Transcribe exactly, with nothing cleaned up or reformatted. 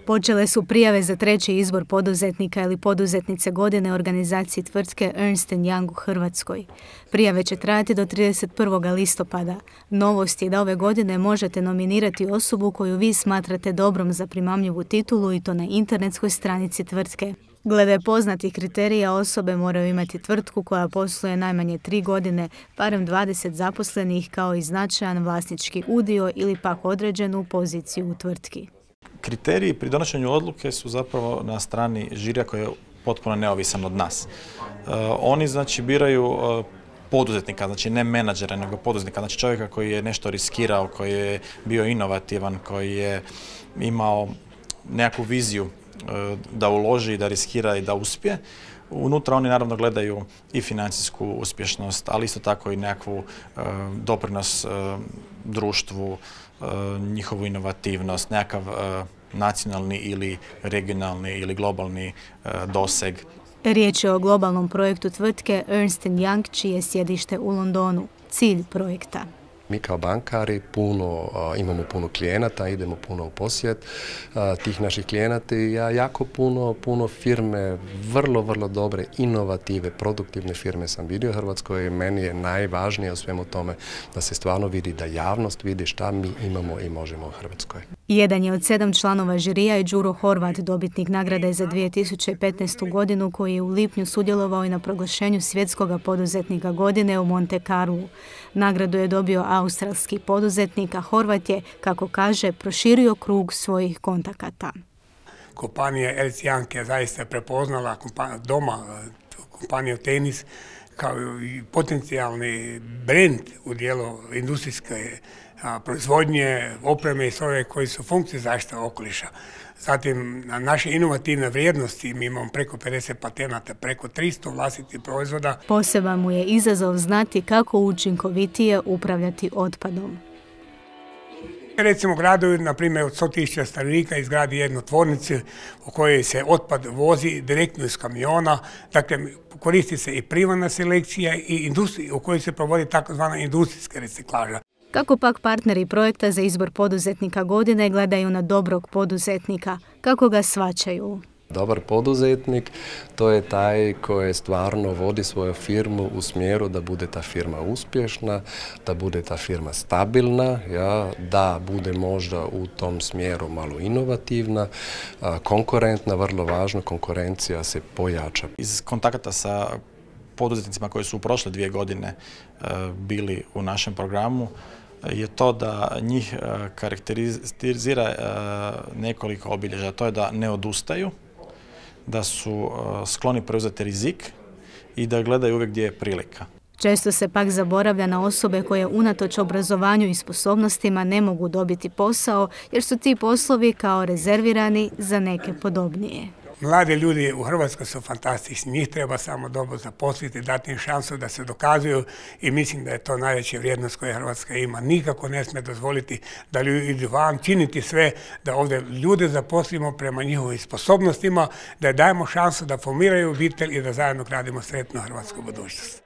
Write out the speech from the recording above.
Počele su prijave za treći izbor poduzetnika ili poduzetnice godine organizaciji tvrtke Ernst and Young u Hrvatskoj. Prijave će trajati do trideset prvog listopada. Novost je da ove godine možete nominirati osobu koju vi smatrate dobrom za primamljivu titulu i to na internetskoj stranici tvrtke. Glede poznatih kriterija, osobe moraju imati tvrtku koja posluje najmanje tri godine, barem dvadeset zaposlenih kao i značajan vlasnički udio ili pak određenu poziciju u tvrtki. Kriteriji pri donošenju odluke su zapravo na strani žirija koji je potpuno neovisan od nas. Uh, oni znači biraju uh, poduzetnika, znači ne menadžera, nego poduzetnika, znači čovjeka koji je nešto riskirao, koji je bio inovativan, koji je imao nekakvu viziju uh, da uloži, da riskira i da uspije. Unutra oni naravno gledaju i financijsku uspješnost, ali isto tako i nekakvu uh, doprinos uh, društvu, uh, njihovu inovativnost, nekakav uh, nacionalni ili regionalni ili globalni uh, doseg. Riječ je o globalnom projektu tvrtke Ernst and Young, čije je sjedište u Londonu. Cilj projekta. Mi kao bankari puno, imamo puno klijenata, idemo puno u posjet tih naših klijenata i ja jako puno, puno firme, vrlo, vrlo dobre, inovative, produktivne firme sam vidio u Hrvatskoj i meni je najvažnije u svemu tome da se stvarno vidi, da javnost vidi šta mi imamo i možemo u Hrvatskoj. Jedan je od sedam članova žirija i Đuro Horvat, dobitnik nagrade za dvije tisuće petnaestu godinu, koji je u lipnju sudjelovao i na proglašenju svjetskog poduzetnika godine u Monte Carlu. Nagradu je dobio australski poduzetnik, a Horvat je, kako kaže, proširio krug svojih kontakata. Kompanija Ernst Young je zaista prepoznala doma kompaniju Tenis kao i potencijalni brend u dijelu industrijske proizvodnje, opreme i strojeva koji su funkcije zaštite okoliša. Zatim, na naše inovativne vrijednosti mi imamo preko pedeset patenata, preko tristo vlastitih proizvoda. Poseban mu je izazov znati kako učinkovitije upravljati otpadom. Recimo, gradovi, na primjer, od sto tisuća stanovnika izgradi jednu tvornicu u kojoj se otpad vozi direktno iz kamiona. Dakle, koristi se i primarna selekcija i industrija u kojoj se provodi takozvana industrijska reciklaža. Kako pak partneri projekta za izbor poduzetnika godine gledaju na dobrog poduzetnika? Kako ga shvaćaju? Dobar poduzetnik, to je taj koji stvarno vodi svoju firmu u smjeru da bude ta firma uspješna, da bude ta firma stabilna, ja, da bude možda u tom smjeru malo inovativna, konkurentna, vrlo važno, konkurencija se pojača. Iz kontakata sa poduzetnicima koji su u prošle dvije godine bili u našem programu je to da njih karakterizira nekoliko obilježja. To je da ne odustaju, da su skloni preuzeti rizik i da gledaju uvijek gdje je prilika. Često se pak zaboravlja na osobe koje unatoč obrazovanju i sposobnostima ne mogu dobiti posao jer su ti poslovi kao rezervirani za neke podobnije. Mladi ljudi u Hrvatskoj su fantastični, njih treba samo dobro zaposliti, dati im šansu da se dokazuju i mislim da je to najveća vrijednost koju Hrvatska ima. Nikako ne smije dozvoliti da ljudi idu van, činiti sve da ovdje ljude zaposlimo prema njihovim sposobnostima, da dajemo šansu da formiraju obitelj i da zajedno gradimo sretnu hrvatsku budućnost.